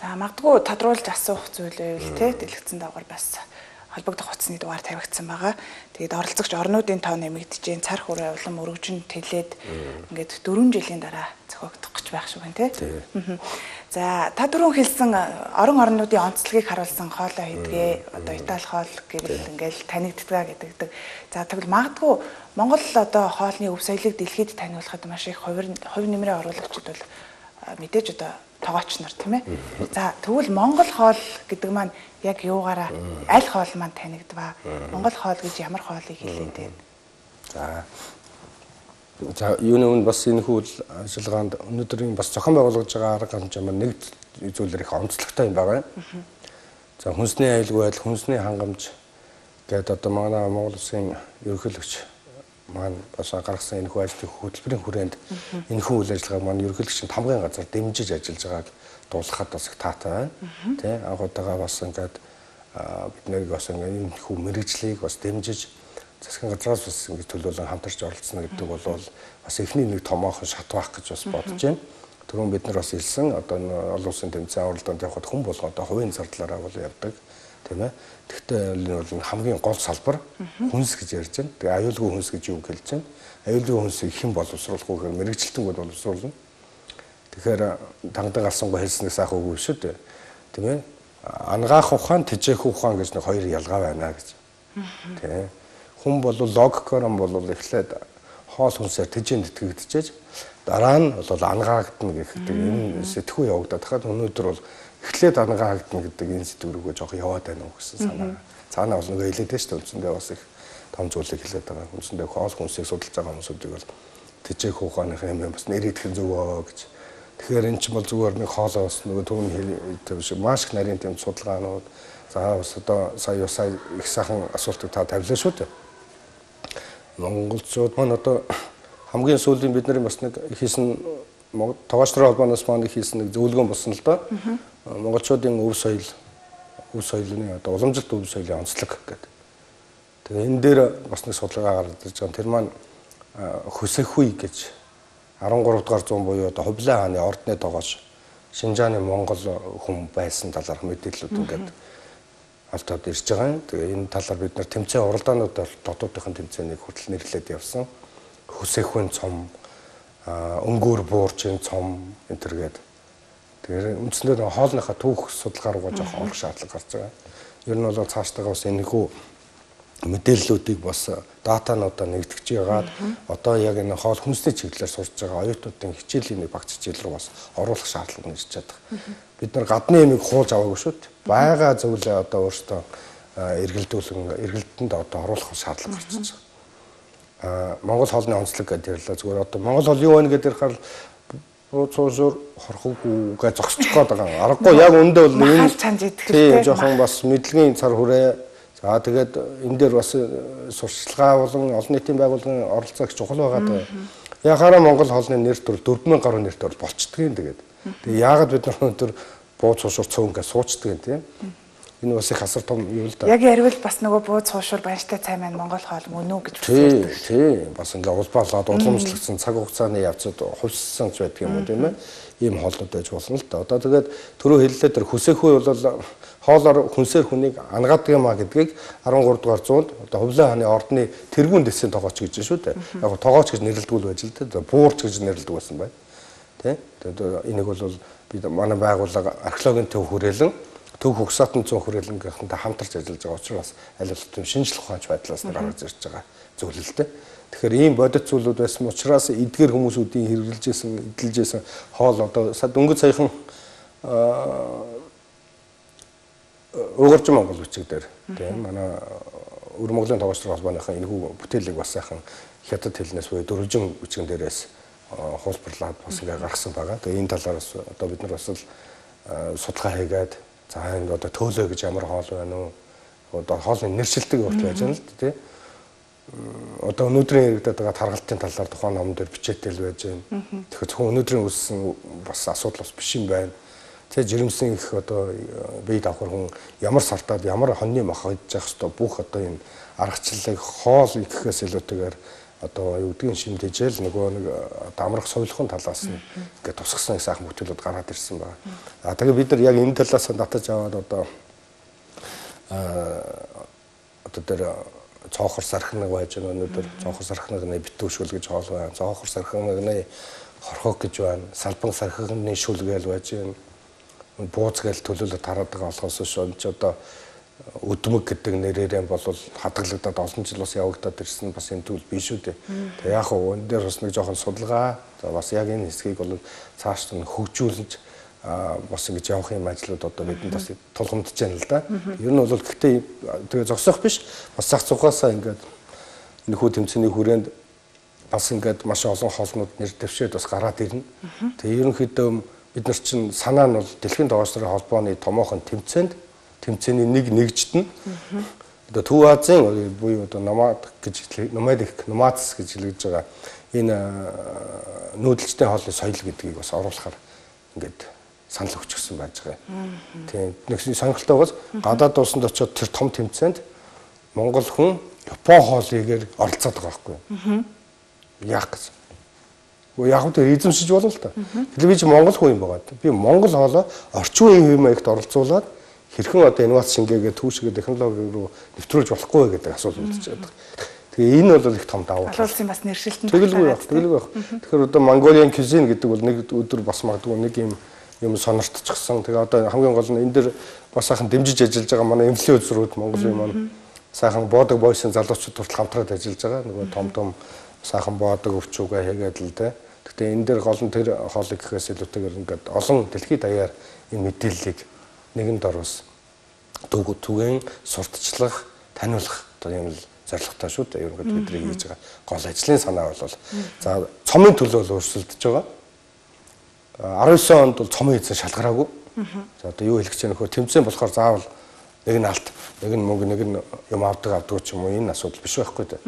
За магадгүй тодруулж асуух зүйл байвал те дэлгэцэн дагавар бас холбогдох утасны дугаар тавигдсан байгаа. Тэгээд оролцогч орнуудын тоо нэмэгдэж, цар хүрээ улам өргөжин тэлээд ингээд 4 жилийн дараа зохиогдох гэж байх шиг байна те. За та түрүүн хэлсэн орон орнуудын онцлогийг харуулсан хоолой хийдгээ одоо Итали хоол гэвэл ингээл танигддаг гэдэг. За тэгвэл магадгүй Монгол одоо хоолны өв соёлыг дэлхийд таниулахад маш их хувь нэмрээ оруулагчид бол мэдээж одоо тогооч нар тийм ээ. За тэгвэл Монгол хоол гэдэг маань яг юугаараа аль хоол маань танигдваа? Монгол хоол гэж ямар хоолыг хэлээд байна? За юуны үн бас энэ хүү ажиллагаанд өнөөдрийн бас зохион байгуулж байгаа арга хэмжээ маань нэг зүйлээр их онцлогтой юм байгаа. За хүнсний аюулгүй байдал, хүнсний хангамж гэдэг одоо манай Монгол Улсын ерөнхийлөгч маань бас гаргасан энэ хүү ажлын хөтөлбөрийн хүрээнд энэ хүү үйл ажиллагааг маань ерөнхийлөгчийн тамгын газар дэмжиж ажиллаж байгааг дуулгахад бас их таатай байна. Тэ анх удаага бас ингээд бид нарыг бас энэ хүү мэрэгжлийг бас дэмжиж засгийн газраас бас ингэж төлөөлөн хамтарч оролцсон гэдэг бол бас эхний нэг томоохон шат байх гэж бас бодож байна. Түрүүн бид нар бас хэлсэн одоо олон улсын тэмцээн уралдаанд явхад хүн болгоо одоо хувийн зардлаараа бол явдаг тийм ээ. Тэгвэл энэ бол хамгийн гол салбар хүнс гэж ярьж байна. Тэгээ аюулгүй хүнс гэж юу хэлж байна? Аюулгүй хүнсийг хэн боловсруулах вэ гэхээр мэрэгчлэлтэн боловсруулна. Тэгэхээр тангад алсангүй хэлснээс сайхан үгүй шүү дээ. Тийм ээ. Ангаах ухаан, тэжээх ухаан гэж нэг хоёр ялгаа байна гэж. Тийм. Хүн бол логикоор нь бол эхлээд хоол хүнсээр тэжээнд итгэгдчихэж дараа нь бол ангаагдана гэдэг энэ сэтгүү явагдаад хахад өнөөдөр бол эхлээд ангаагдана гэдэг энэ сэтгүүрүүгээ жоох яваад байна уу гэсэн санаа. цаанаа бол нөгөө хэлээд шүү дээ. Үндсэндээ бас их том зүйлийг хэлээд байгаа. Үндсэндээ хоол хүнсийг судалж байгаа хүмүүсүүдийг бол тэжээх ухааных юм бас нэрийдэх зөвөө гэж. Тэгэхээр эн чинь бол зүгээр нэг хоолоо бас нөгөө түүний шиг маш их нарийн тэм судалгаанууд за бас одоо сая их сайхан асуултыг та тавилаа шүү дээ. Монголчууд маань одоо хамгийн сүүлийн бидний бас нэг хийсэн тоогоочдрын холбооноос маань хийсэн нэг зөвлөгөө болсон л доо. Монголчуудын өв соёлын одоо уламжлалт өв соёлын онцлог гэдэг. Тэгээ энэ дээр бас нэг судалгаа гаргаж байгаа. Тэр маань Хөсөхгүй гэж 13 дугаар зуун буюу одоо Хувлаа хааны ордны тогооч Шинжааны Монгол хүн байсан талаарх мэдээллүүд ингээд олдоод ирж байгаа. Тэгээ энэ талаар бид нар тэмцээн уралдаанууд дотоодынхын тэмцээнийг хүртэл нэрлээд явсан. Хөсөхгүй цом, өнгөөр буурчийн цом энэ төргээд тэгээ үндсэндээ хоолныхаа түүх судалгаа руугаа жоох орох шаардлага гарч байгаа. Ер нь бол цаашдаа бас энэхүү мэдээллүүдийг бас датануудаа нэгтгэж яагаад одоо яг энэ хоол хүнсний чиглэлээр сурч байгаа оюутнуудын хичээлийн нэг багц хичээл рүү бас оруулах шаардлага нэрч чадах. Бид нар гадны юмыг хуулж аваагүй шүү дээ. Бага зөвлөө одоо өөртөө эргэлтэнд одоо оруулах шаардлага гарч байгаа. Монгол хоолны онцлог гэдэг ярьлаа зүгээр одоо Монгол хоол юу вэ гэдэг ярихаар цуусур хорхоггүй гэж зогсчих гээд байгаа. Аргагүй яг өндөө бол энэ тийм жоохон бас мэдлэгийн цар хүрээ. За тэгээд энэ дээр бас сурчлагаа болон олон нийтийн байгууллагын оролцоо их чухал байгаа даа. Яхаараа Монгол хоолны нэр төр 4000 гаруй нэр төр болчдгийг тэгээд. Тэгээ яагаад бид нар өнөөдөр бууз суушур цөөн гэж суучдаг юм тийм. Энэ бас их асар том юу л да. Яг ярил бас нөгөө бууз суушур банштай цай маань Монгол хоол мөн үү гэж үздэг. Тийм. Бас ингээ улбаалаад уламжлагдсан цаг хугацааны явцад хувьссан ч байдаг юм уу тийм ээ. Ийм хоолнууд байж болно л да. Одоо тэгээд түрүү хэллээ тэр Хөсөхгүй бол хоолоор хүнсээр хүнийг ангадаг юм а гэдгийг 13 дугаар зуунд одоо Хувлаа хааны ордны тэргүүн дэсийн тогооч гэж шүү дээ. Яг тогооч гэж нэрлэдэг байж л дээ. Буурч гэж нэрлэдэг байсан бай. Тэ? Тэгээд энийг бол бид манай байгууллага археологийн төв хүрээлэн төв хөгсөтөн зүүн хүрээлэн гэнхэнтэй хамтарч ажиллаж байгаа учраас аль болох тийм шинжлэх ухаанч байдлаас гаргаж ирж байгаа зөвлөлтэй. Тэгэхээр ийм бодит зүйлүүд байсан учраас эдгээр хүмүүсүүдийн эдэлжсэн хоол одоо дөнгөж саяхан Угарч Монгол бичиг дээр тийм манай Өр Монголын тогоочдрын холбооныхын энэхүү бүтээлийг бас сайхан хятад хэлнээс буюу дөрвжин бичгэн дээрээс хуулбарлаад бас ингээ гаргасан байгаа. Тэгээ энэ талаар бас одоо бид нар бас судалгаа хийгээд за энэ одоо төөлөө гэж ямар хоол байна уу? Одоо хоолны нэршилдэг хүртэл байж байна л дээ тийм. Одоо өнөөдрийн яригдаад байгаа таргалтын талаар тухайн ном дээр бичээтэл байж байна. Тэгэхээр зөвхөн өнөөдрийн үүссэн бас асуудал бас биш юм байна. Тэгээ жирэмсэн их одоо бие давхар хүн ямар сартаад ямар хоньны мах идэж явах хэвээр бүх одоо энэ аргачлалыг хоол ихэхээс илүүтэйгээр одоо юу гэдгийг шимдэжэл нөгөө нэг амрах соёлхон талаас нь ингээд тусгасан сайхан бүтээлүүд гараад ирсэн байна. Тэгээ бид нар яг энэ талаас нь татаж аваад одоо тэр цоохор сархинаг байж байгаа өнөөдөр цоохор сархинагны битүүшүүл гэж хоол байна. Цоохор сархинагны хорхог гэж байна. Салбан сархинагны шүлгээл байж байна. Бууз гээл төлөөлөд тараад байгаа болохоос шууд одоо өдмөг гэдэг нэрээрээ бол хадгалагдаад олон жил бас явагдаад ирсэн бас энэ зүйл биш үү дээ. Тэгээ яг хөө энэ дээр бас нэг жоохон судалгаа бас яг энэ хэсгийг бол цааш нь хөгжүүлж бас ингэж явах юм ажлууд одоо бидэнд бас тулгамдж байна л да. Ер нь бол гэхдээ тэгээ зогсох биш бас зах зугаасаа ингээд энэхүү тэмцээний хүрээнд бас ингээд маш олон хоолнууд нэр дэвшээд бас гараад ирнэ. Тэгээ ерөнхийдөө бид нар чинь санаа нь бол Дэлхийн тогоочдрын холбооны томоохон тэмцээний нэг нэгжтэн одоо Төв Азийн буюу одоо номадс гэж хэлж байгаа энэ нүүдэлчтэй хоолны соёл гэдгийг бас оруулахаар ингээд санал өгчихсөн байж байгаа. Тийм нэг сонирхолтой бас гадаад улсанд очиод тэр том тэмцээнд Монгол хүн Япон хоолыгээр оролцоод байгаа байхгүй юу? Яах гэж яг үгүй эзэмшиж болно л та. Тэгэхээр би чи Монгол хүн юм байгаа. Би Монгол хоолоо орчин үеийн хэм маягт оролцуулаад хэрхэн одоо инновац шингээгээ түүшгээ технологи руу нэвтрүүлж болохгүй вэ гэдэг асуулт үүсэж байгаа. Тэгээ энэ бол их том давуу тал. Улсын бас нэршилтэн тэгэлгүй байх. Тэгэхээр одоо Mongolian cuisine гэдэг бол нэг өдөр бас магадгүй нэг юм сониртчихсан. Тэгээ одоо хамгийн гол нь энэ дэр бас сайхан дэмжиж ажиллаж байгаа манай эмнэлгийн үзрүүд Монголын маань сайхан боодог бойсын залуучууд хүртэл хамтраад ажиллаж байгаа. Нөгөө том сайхан боодог өвчүүгээ хийгээд л дээ. Гэхдээ энэ дээр гол нь тэр хоолыг гэхээс илүүтэйгээр ингээд олон дэлхийд даяар энэ мэдээллийг нэгэнд оруулсан. түгээн сурталчлах, таниулах одоо юм л зорилготой шүү дээ. Ерөнхийдөө бидний хийж байгаа гол ажлын санаа бол за цомын төлөө л өрсөлдөж байгаа. 19 онд бол цомын эзэн шалгараагүй. За одоо юу хэлэх гэж байна нөхөр тэмцээн болохоор заавал нэг нь алт, нэг нь мөнгө, нэг нь юм авдаг ч юм уу энэ асуудал биш байхгүй дээ.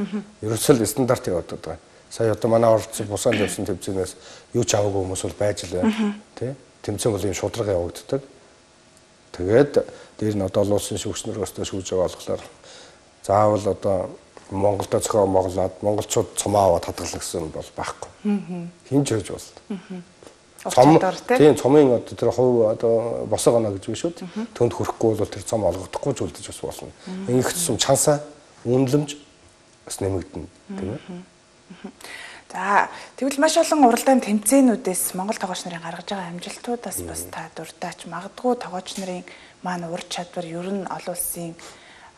Ерөөсөө л стандарт яваад байгаа. Сая одоо манай оролцсон бусаанд явсан тэмцээнээс юу ч аваагүй хүмүүс бол байж л байна. Тэ? Тэмцээн бол юм шудрага явагддаг. Тэгээд дээр нь одоо олон улсын шүүгчнэр өстө шүүж байгаа болохоор заавал одоо Монголд зохион моглоод монголчууд цомоо аваад хадгална гэсэн бол байхгүй. Хинж хөөж бол. Тийм цомын одоо тэр хувь одоо босоо гоноо гэж биш шүү дээ. Төнд хүрэхгүй бол тэр цом олгохдохгүй ч үлдэж бас болно. Ингэх юм чансаа үнэлэмж бас нэмэгдэнэ тийм ээ. За тэгвэл маш олон уралдаан тэмцээнүүдээс Монгол тоглогч нарын гаргаж байгаа амжилтуудаас бас та дуртаач магадгүй тоглогч нарын маань ур чадвар ер нь олон улсын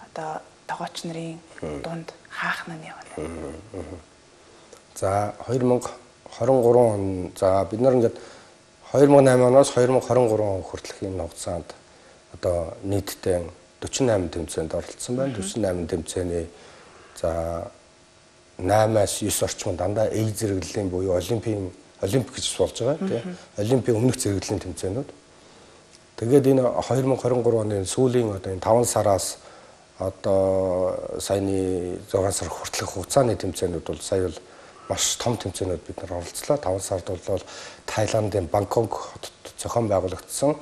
одоо тоглогч нарын дунд хаахна нь явна. За 2023 он за бид нар ингээд 2008 оноос 2023 он хүртэлх энэ хугацаанд одоо нийтдээ 48 тэмцээнд оролцсон байна. 48 тэмцээний за 8-аас 9 орчим дандаа A зэрэглэлийн буюу олимпик гэж болж байгаа тийм. Олимпийн өмнөх зэрэглэлийн тэмцээнүүд. Тэгээд энэ 2023 оны сүүлийн одоо энэ 5 сараас одоо саяны 6 сар хүртэлх хугацааны тэмцээнүүд бол сая бол маш том тэмцээнүүд бид нар оролцлоо. 5 сард бол Таиландын Бангкок хотод зохион байгуулагдсан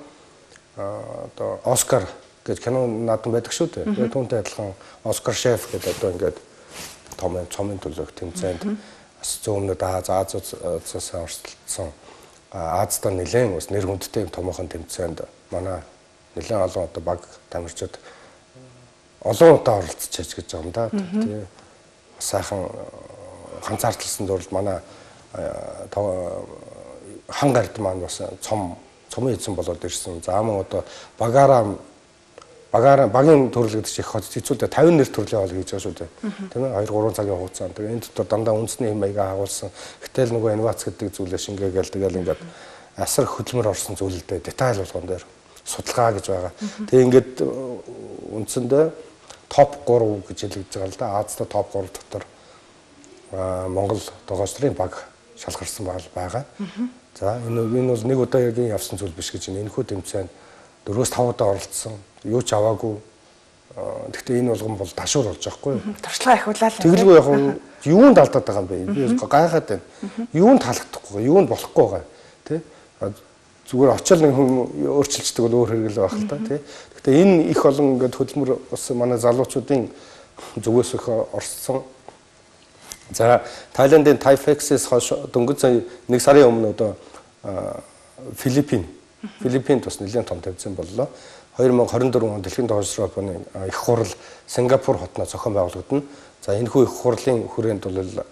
одоо Оскар гэж кино наадам байдаг шүү дээ. Тэгээд түүнтэй адилхан Оскар шеф гэдэг одоо ингээд том цомын төлөөх тэмцээнд бас зөөнөд Азиас оролцсон Аздаа нэлээд бас нэр хүндтэй томоохон тэмцээнд манай нэлээд олон одоо баг тамирчид олон удаа оролцож гэж байгаа юм да. Тийм сайхан ганцаардлсан зурлал манай хан гард маань бас цомын эзэн болоод ирсэн. За мөн одоо багийн төрөл гэдэг чинь их хэцүүтэй 50 нэр төрлийн хоол хийж байгаа шүү дээ. Тийм ээ 2-3 цагийн хугацаанд. Тэгээ энэ дотор дандаа үндэсний хэм маягаа хагуулсан. Гэтэл нөгөө инновац гэдэг зүйлээ шингээгээл тэгэл ингээд асар хөдөлмөр орсон зүйлдээ деталь болгон дээр судалгаа гэж байгаа. Тэгээ ингээд үндсэндээ топ 3 гэж хэлэгдэж байгаа л да. Азтай топ 3 дотор Монгол тоглогч нарын баг шалгарсан байгаа. За энэ бол нэг удаагийн явсан зүйл биш гэж энэ энэхүү тэмцээнд 4-5 удаа оролцсон. Юу ч аваагүй. Гэхдээ энэ болгон бол ташуур болж байгаа хгүй юу? Туршлага ахиулаад. Тэгэлгүй яг юунд алдаад байгаа юм бэ? Би гайхаад байна. Юунд таалагдахгүй, юунд болохгүй байгаа. Тэ? Зүгээр очил нэг хүн өөрчилждэг бол өөр хэрэгэл байх л та, тий. Гэхдээ энэ их олон ингээд хөдөлмөр бас манай залуучуудын зүгээс их орсон. За Тайландын Тайфексээс хойш дөнгөж сая 1 сарын өмнө одоо Филиппинд бас нэлээд том тэмцээн боллоо. 2024 онд дэлхийн тоглогч холбооны их хурал Сингапур хотноо зохион байгуулагдана. За энэхүү их хурлын хүрээнд бол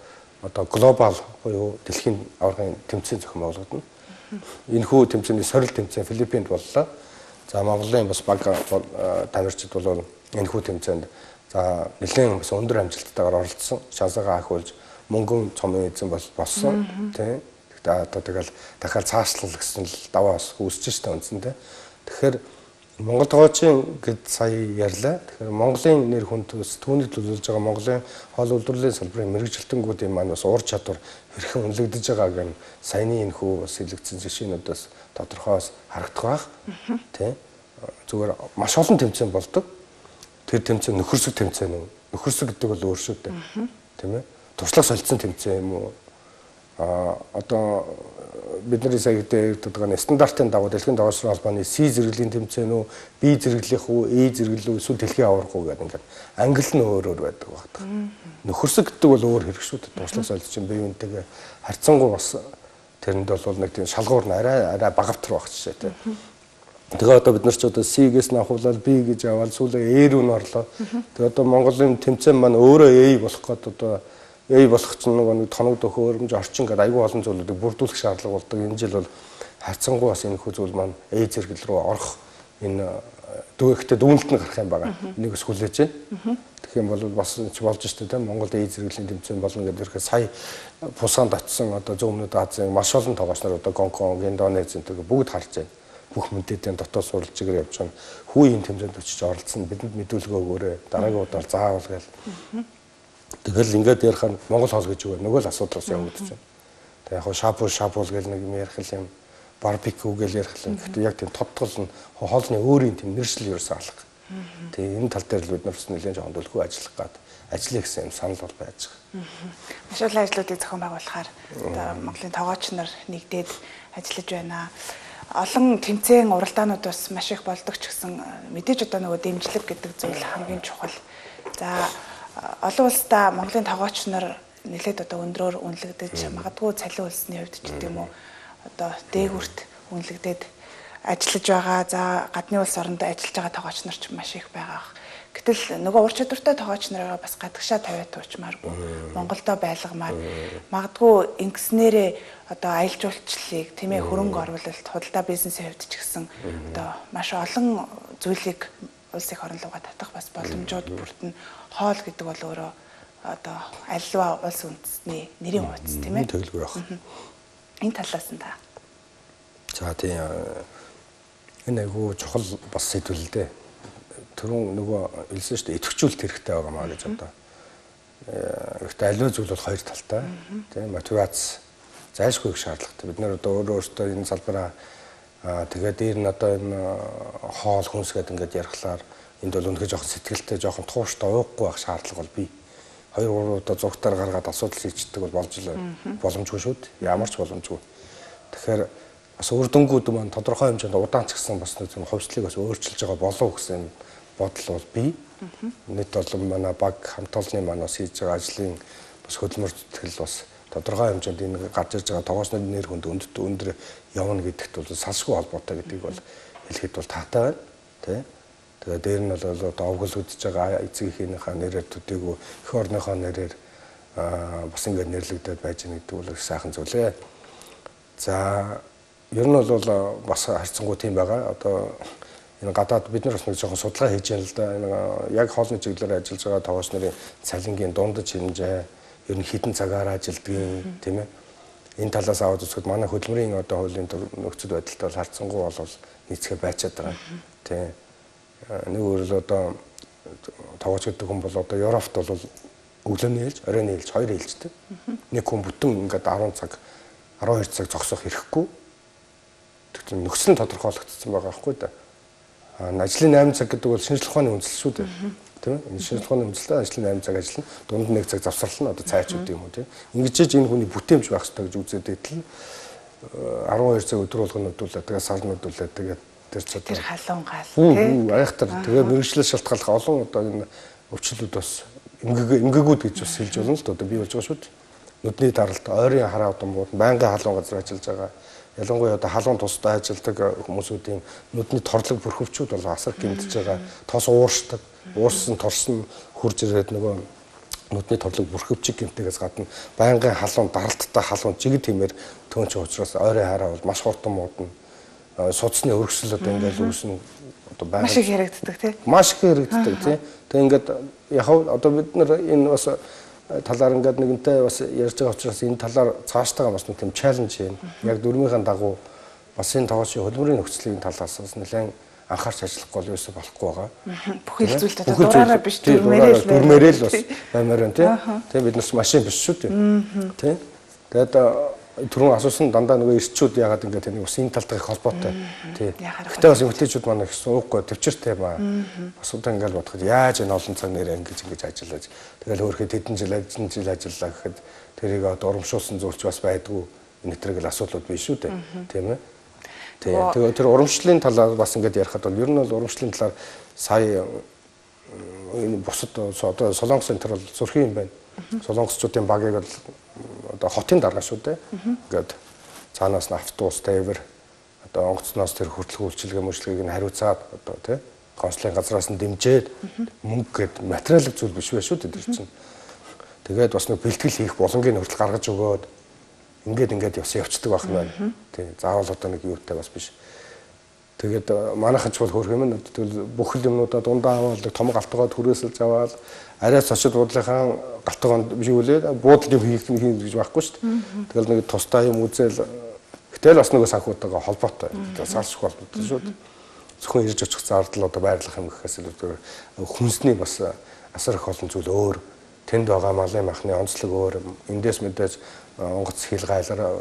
одоо глобал буюу дэлхийн аваргын тэмцээн зохион байгуулагдана. Энэхүү тэмцээний сорил тэмцээн Филиппинд боллоо. За Монголын бас баг тамирчид бол энэхүү тэмцээнд за нэлээд бас өндөр амжилттайгаар оролцсон. Шансаагаа ахиулж мөнгөн цомын эзэн болсон. Тийм. Одоо тэгэл дахиад цаашлал гэсэн л даваа бас үүсэж штэ үндсэндээ. Тэгэхээр Монгол тоглогчийн гэд сая ярьлаа. Тэгэхээр Монголын нэр хүнд түүний төлөвлөж байгаа Монголын хоол үйлдвэрлэлийн салбарын мэрэгжилтэнгүүдийн маань бас ур чадвар хэрхэн үнэлэгдэж байгааг нь саяны энэхүү бас хэлэгдсэн жишээнүүдээс тодорхойс харагдах байх. Тийм. Зүгээр маш олон тэмцээн болдог. Тэр тэмцээн нөхөрсөг тэмцээн үү? Нөхөрсөг гэдэг бол өөр шүү дээ. Тийм ээ. Туршлага солилцсон тэмцээн юм уу? Одоо бидний сая гэдэг байгаа стандартын дагуу дэлхийн тоглогч холбооны C зэрэглэлийн тэмцээн үү, B зэрэглэх үү, A зэрэглэл үү, эсвэл дэлхийн аварга уу гэдэг ингээд англи нь өөр байдаг багтах. Нөхөрсөг гэдэг бол өөр хэрэг шүү дээ. Туршлага солилцсон бие биентэйгээ харьцангуй бас тэрэнд бол нэг тийм шалгуур нь арай багавтар байх жишээ тийм. Тэгээ одоо бид нар ч одоо C-гээс нь авахлал B гэж аваад сүүлээ A руу н орлоо. Тэгээ одоо Монголын тэмцээн маань өөрөө A болох гээд одоо A болох ч нэг тоног төхөөрөмж орчин гэдэг айгүй олон зүйлүүдийг бүрдүүлэх шаардлага болдог. Энэ жил бол харьцангуй бас энэ хүү зүйл маань A зэрэгэл рүү орох энэ дүүхтэй дүүнэлт нь гарах юм байгаа. Энийг бас хүлээж байна. Тэгэх юм бол бас болж штэ тийм Монгол A зэрэглэлийн тэмцээн болно гэдэг ихээр сая Пусанд очисон одоо Зүүн өмнөд Азийн маш олон тоглогч нар одоо Гонконг, Индонез зэрэг бүгд харж байна. бүх мэдээдийн дотоод сурвалж чигээр явж байгаа. Хүүгийн тэмцээнд очиж оролцсон бидэнд мэдүүлгээ өгөөрэй. Дараагийн удаа заавал гээл. Тэгэл ингээд ярих нь Монгол хоол гэж өгөө. Нөгөө л асуудал бас явагдаж байна. Тэг яг шапуул гэл нэг юм ярих юм барбекю гэл ярих юм. Гэхдээ яг тийм тодтол нь хоолны өөрийн тийм нэршил ерөөсөө алга. Тэг энэ тал дээр л бид нар бас нэлээд жоохон дэлгүү ажиллах гад ажиллая гэсэн юм санал бол байж байгаа. Маш олон ажлуудыг зохион байгуулахаар одоо Монголын тоогооч нар нэгдээд ажиллаж байна. Олон тэмцээн уралдаанууд бас маш их болдог ч гэсэн мэдээж одоо нөгөө дэмжлэг гэдэг зүйл хамгийн чухал. За олон улсдаа Монголын тоогооч нар нэлээд одоо өндрөөр үнэлэгдэж магадгүй цалин улсны хувьд ч гэдэг юм уу одоо дээгүрт үнэлэгдээд ажиллаж байгаа. За гадны улс оронд ажиллаж байгаа тоогооч нар ч маш их байгаа. Гэтэл нөгөө ур чадвартай тоогооч нараа бас гадагшаа тавиад туучмааргүй. Монголдо байлгамаар магадгүй ингэснээрээ одоо аялал жуулчлалыг тийм ээ хөрөнгө оруулалт, худалдаа бизнесийн хувьд ч гэсэн одоо маш олон зүйлийг улс их орон руугаа татах бас боломжууд бүрдэн хоол гэдэг бол өөрөө одоо аливаа улс үндэстний нэрийн хуудас тийм ээ. Тэгэлгүй байх. Энэ талаас нь та. За тийм энэ айгүй чухал бас сэдвэл л дээ. Түрүүн нөгөө хэлсэн шүү дээ идэвхжүүлэлт хэрэгтэй байгаа маа гэж одоо. Гэхдээ аливаа зүйл бол хоёр талтай. Тийм мотивац зайлшгүй их шаардлагатай. Бид нар одоо өөрөөсөө энэ салбараа тэгээд дээр нь одоо энэ хоол хүнс гэдэг ингээд ярихлаар энд бол үнэхээр жоохон сэтгэлтэй жоохон тууштай уухгүй байх шаардлага бол бий. 2-3 удаа зургатаар гаргаад асуудал шийддэг бол болж л боломжгүй шүү дээ. Ямар ч боломжгүй. Тэгэхээр бас үр дүнгууд маань тодорхой хэмжээнд удаан ч гэсэн бас нэг хувьслыг бас өөрчилж байгаа болов гэсэн бодол бол бий. Нийт бол манай баг хамт олонны манаас хийж байгаа ажлын бас хөдөлмөр зүтгэл бас тодорхой хэмжээнд энэ гарч ирж байгаа тоогоочны нэр хүнд өндөр явна гэдэгт бол салшгүй холбоотой гэдгийг бол хэлэхэд бол таатай байна. Тэ. Тэгээд дээр нь бол одоо овгол үдж байгаа эцэг эхийнхээ нэрээр төдийгүй эх орныхоо нэрээр бас ингээд нэрлэгдээд байж байгаа гэдэг бол их сайхан зүйлээ. За ер нь бол бас харьцангуй тийм байгаа. Одоо энэ гадаад бид нар бас нэг жоохон судалгаа хийж байна л да. Энэ яг хоолны чиглэлээр ажиллаж байгаа тоогооч нарын цалингийн дундаж хэмжээ ер нь хэдэн цагаар ажилдгийг тийм ээ. Энэ талаас аваад үзэхэд манай хөдөлмөрийн одоо хуулийн нөхцөл байдалтай бол харьцангуй бол нийцгээ байцаад байгаа. Тийм. Нэг өөрөөр одоо тоогооч гэдэг хүн бол одоо Европт бол өглөөний ээлж, оройн ээлж хоёр ээлжтэй. Нэг хүн бүтэн ингээд 10 цаг 12 цаг зогсох хэрэггүй. Тэгэхээр нөхцөл нь тодорхойлогдсон байгаа байхгүй да. Ажлын 8 цаг гэдэг бол шинжлэх ухааны үндэслэл шүү дээ. Тийм ээ. Шинжлэх ухааны үндэслэл ажлын 8 цаг ажиллана. Дунд нь 1 цаг завсарлана. Одоо цайчууд юм уу тийм. Ингэж энэ хүний бүтээмж байх хэрэгтэй гэж үзээд итэл 12 цаг өдөр болгоно өдүүлээ. Тэгээд сар өдүүлээ. Тэгээд тэр халуун гал тийм. Айхтар тэгээд мэрэгчлэл шалтгааллах олон одоо энэ өвчлүүд бас эмгэгүүд гэж бас хэлж болно л да. Одоо бий болж байгаа шүү дээ. Нүдний даралт, ойрын хараа удамууд, байнгын халуун газар ажиллаж байгаа. Ялангуяа одоо халуун тусдаа ажилладаг хүмүүсүүдийн нүдний торлог бүрхөвчүүд бол асар гэмтэж байгаа. Тос ууршдаг. Уурсан торсон хурж ирээд нөгөө нүдний торлог бүрхөвчиг гэмтээс гадна байнгын халуун даралттай халуун жиг тиймэр төөнч учраас ойрын хараа бол маш хурдан муудна. Судасны өргөсөл одоо ингээд үүснэ. Одоо байнга маш их яригддаг тийм. Маш их яригддаг тийм. Тэг ингээд яг одоо бид нар энэ бас талаар ингээд нэгэнтэй бас ярьж байгаа учраас энэ талаар цаашдаа бас нэг тийм чаленж юм. Яг дөрмийнхэн дагуу бас энэ тоогоочийн хөдөлмөрийн нөхцөлийн талаас бас нэлээд анхаарч ажиллахгүй бол юусо болохгүй байгаа. Бүхэл зүйлд одоо дураараа биш дүрмээрээ л бас баймаар байна тийм. Тийм бид нар машин биш шүү дээ. Тийм. Тэгээд түрүүн асуусан дандаа нөгөө эрчүүд яагаад ингээд энэ ус энэ талтай их холбоотой. Тийм. Гэтэ бас эмэгтэйчүүд маань их суухгүй төвчөртэй ба. Бас удаа ингээд бодоход яаж энэ олон цаг нэрээ ингэж ажиллаж тэгэл хөөрхөд хэдэн жил ажиллаа гэхэд тэрийг одоо урамшуулсан зүйлч бас байдгүй. Энэ төрөл асуудлууд биш шүү дээ. Тийм ээ. Тэгээ тэр урамшлалын талаар бас ингээд ярихад бол ер нь бол урамшлалын талаар сая энэ бусад одоо Солонгос энэ төр бол зөрхийн юм байна. Солонгосчуудын багийг бол одоо хотын дарга шүү дээ. Ингээд цаанаас нь автобус, тээвэр одоо онгоцноос тэр хүртэлгүй үйлчилгээ мөрчлөгийг нь хариуцаад одоо тий консулын газраас нь дэмжээд мөнгө гээд материалын зүйл биш байх шүү дээ тэр чинь. Тэгээд бас нэг бэлтгэл хийх боломжийг хүртэл гаргаж өгөөд ингээд явцдаг байх юм байна. Тий заавал одоо нэг юутай бас биш. Тэгээд манайхан ч бол хөрх юм. Тэгвэл бүх юмнуудаа дундаа аваад том галтгоод хүрээсэлж аваад араас очид буудлынхаа галтгоонд биш үлээ буудал юм хийх гэж байхгүй шүү дээ. Тэгэл нэг тустай юм үзэл Гэтэл бас нөгөө санхүүтэйгээ холбоотой. Салшгүй холбоотой шүү дээ. Зөвхөн ирж очих зардал одоо байрлах юм гэхээс илүү хүнсний бас асар их олон зүйл өөр. Тэнд байгаа малын махны онцлог өөр. Эндээс мэдээж онгоц хил гайлаар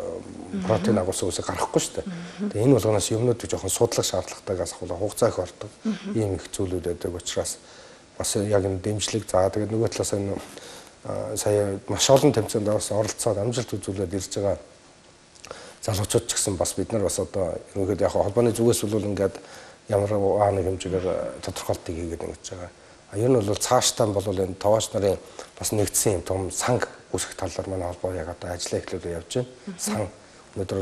протеин агуулсан үсэг гарахгүй шүү дээ. Тэгээ энэ болгоноос юмнууд жоохон судлах шаардлагатайгаас ахвал хугацаа их ордог. Ийм их зүйлүүд байдаг учраас бас яг энэ дэмжлэг за тэгээд нөгөө талаас энэ сая маш олон тэмцээнд оролцоод амжилт үзүүлээд ирж байгаа залуучууд ч гэсэн бас бид нар бас одоо ерөнхийдөө яг холбооны зүгээс бол ингээд ямар нэг хэмжээгээр тодорхойлтыг хийгээд ингэж байгаа. Ер нь бол цаашдаа бол энэ тоогооч нарын бас нэгдсэн юм том санг үүсгэх талаар манай холбоо яг одоо ажиллаа эхлүүлээ явж байна. Сан өнөөдөр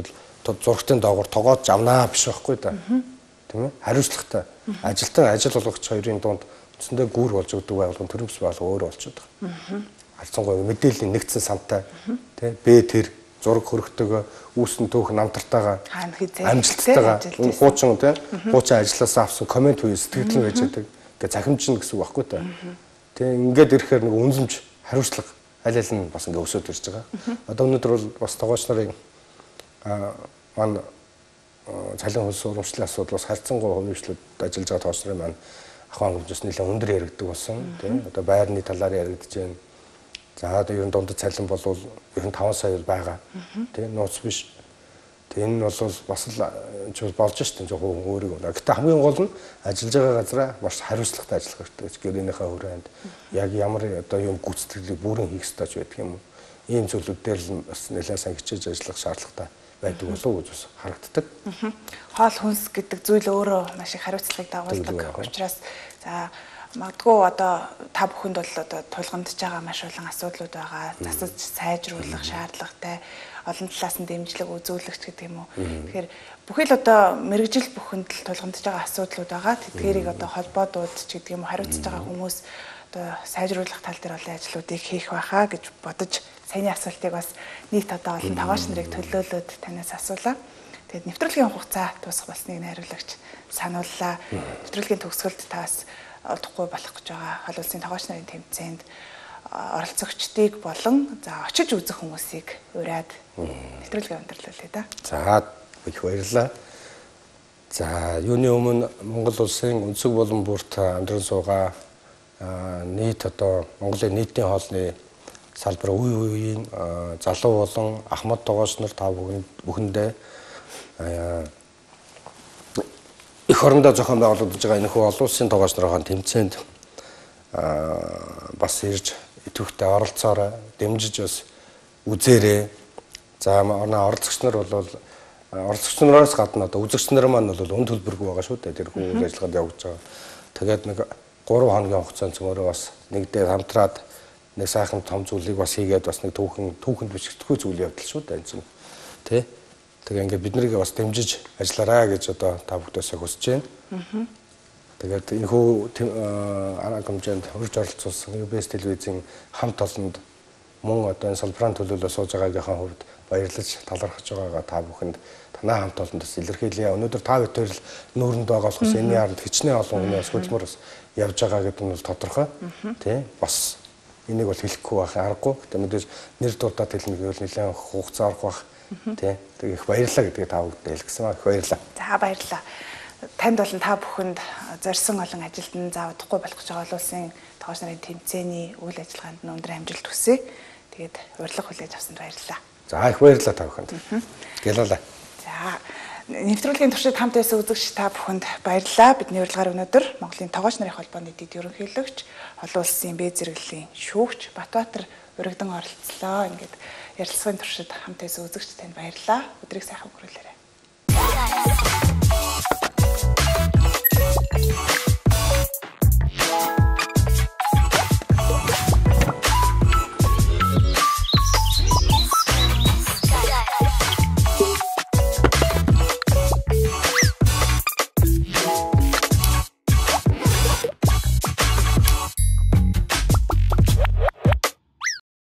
бол зургтын доогуур тоогооч авнаа биш байхгүй да. Тийм ээ? Хариуцлагатай. Ажилтан ажил болгогч хоёрын дунд үндсэндээ гүүр болж өгдөг байгуулгын төрөмс байгуулга өөрөө болчиход байгаа. Харцангуй мэдээллийн нэгдсэн сантай тийм бэ тэр зураг хөрөгтэйгөө үүсн түүх намтартайгаа амжилттайгаа хуучин тийм хуучин ажилласаа авсан комент үе сэтгэл байж байдаг. Ингээ захимжна гэсэн үг байхгүй та. Тийм ингээд ирэхээр нэг үнэлэмж хариуцлага аль аль нь бас ингээ өсөд ирж байгаа. Одоо өнөөдөр бол бас тоогооч нарын мань цалин хөлс урамшлын асуудал бас харьцангуй хөвчлөд ажиллаж байгаа тоогооч нарын маань ахуйн хэмжээс нэлээд өндөр яригддаг болсон. Тийм одоо байрны талаар яригдж байна. За одоо ер нь дундад цалин бол ер нь 5 сая байгаа. Тийм нууц биш. Энэ нь бол бас л болж штэ жоохон өөрийг. Гэхдээ хамгийн гол нь ажиллаж байгаа газараа маш хариуцлагатай ажиллах хэрэгтэй гэж гэрээнийхээ хүрээнд яг ямар одоо юм гүйцэтгэлийг бүрэн хийх ёстой ч байдаг юм уу. Ийм зүйлүүд дээр л бас нэлээд сайн хичээж ажиллах шаардлагатай байдаг болов уу гэж бас харагддаг. Хоол хүнс гэдэг зүйл өөрөө маш их хариуцлагыг дагуулдаг. Учраас за магадгүй одоо та бүхэнд бол одоо тулгамдж байгаа маш олон асуудлууд байгаа. Засаж сайжруулах шаардлагатай, олон талаас нь дэмжлэг үзүүлэгч гэдэг юм уу. Тэгэхээр бүхий л одоо мэрэгжил бүхэнд л тулгамдж байгаа асуудлууд байгаа. Тэдгээрийг одоо холбоодууд ч гэдэг юм уу хариуцж байгаа хүмүүс одоо сайжруулах тал дээр олон ажлуудыг хийх байхаа гэж бодож саяны асуултыг бас нийт одоо олон тоогооч нарыг төлөөлөөд танаас асуулаа. Тэгээд нэвтрүүлгийн хугацаа дуусах болсныг найруулагч санууллаа. Нэвтрүүлгийн төгсгөлд таас олдохгүй болох гэж байгаа хол улсын тоогооч нарын тэмцээнд оролцогчдыг болон за очиж үзэх хүмүүсийг ураад нэвтрүүлгээ өндөрлүүлээ да. За их баярлалаа. За юуны өмнө Монгол улсын өнцөг болон бүрт амьдран суугаа нийт одоо Монголын нийтийн хоолны салбар үеийн залуу болон ахмад тоогооч нар та бүхэндээ их орондоо зохион байгуулагдж байгаа энэ хүү олон улсын тоогооч нарын тэмцээнд бас ирж идэвхтэй оролцоорой, дэмжиж бас үзээрэй. За оролцогч нар бол оролцогч нараас гадна одоо үзэгч нар маань бол үн төлбөргүй байгаа шүү дээ. Тэр үйл ажиллагаанд явж байгаа. Тэгээд нэг 3 хоногийн хугацаанд цөмөрөө бас нэгдээ хамтраад нэг сайхан том зүйлийг бас хийгээд бас нэг түүхэнд бичигдэхгүй зүйл явдал шүү дээ энэ чинь. Тэ? Тэгээ ингээд бид нарыг бас дэмжиж ажиллаарай гэж одоо та бүхэндээ хүсэж байна. Тэгээд энэ хүү арга хэмжээнд хурж оролцуулсан UBS телевизийн хамт олонд мөн одоо энэ салбарын төлөөлөл сууж байгаагийнхаа хувьд баярлаж талархаж байгаагаа та бүхэнд танай хамт олондос илэрхийлье. Өнөөдөр та бүхэн л нүүрэнд байгаа болохоос энэ ярд хичнээн олон хүмүүс хөдөлмөр бас явж байгаа гэдэг нь бол тодорхой. Тэ? Бас энийг бол хэлэхгүй байх аргагүй. Тэгээд мэдээж нэр дурдаад хэлнэ гэвэл нэлээд хугацаа орох байх. Тэ? Тэгээд их баярлалаа гэдгийг та бүхэнд хэлгэсэн ба их баярлалаа. За баярлалаа. Танд болон та бүхэнд зорьсон олон ажилтнаа заавдахгүй болох гэж байгаа улсын тоогооч нарын тэмцээний үйл ажиллагаанд нь өндөр амжилт хүсье. Тэгээд урилга хүлээж авсанд баярлалаа. За их баярлалаа та бүхэнд. Гялалаа. За нэвтрүүлгийн туршид хамт байсан үзэгч та бүхэнд баярлалаа. Бидний урилгаар өнөөдөр Монголын тоогооч нарын холбооны дэд ерөнхийлөгч, олон улсын Б зэрэглэлийн шүүгч Батбаатар урагдан оролцлоо. Ингээд ярилцлагын туршид хамт байсан үзэгч танд баярлалаа. Өдрийг сайхан өнгөрүүлээрэй.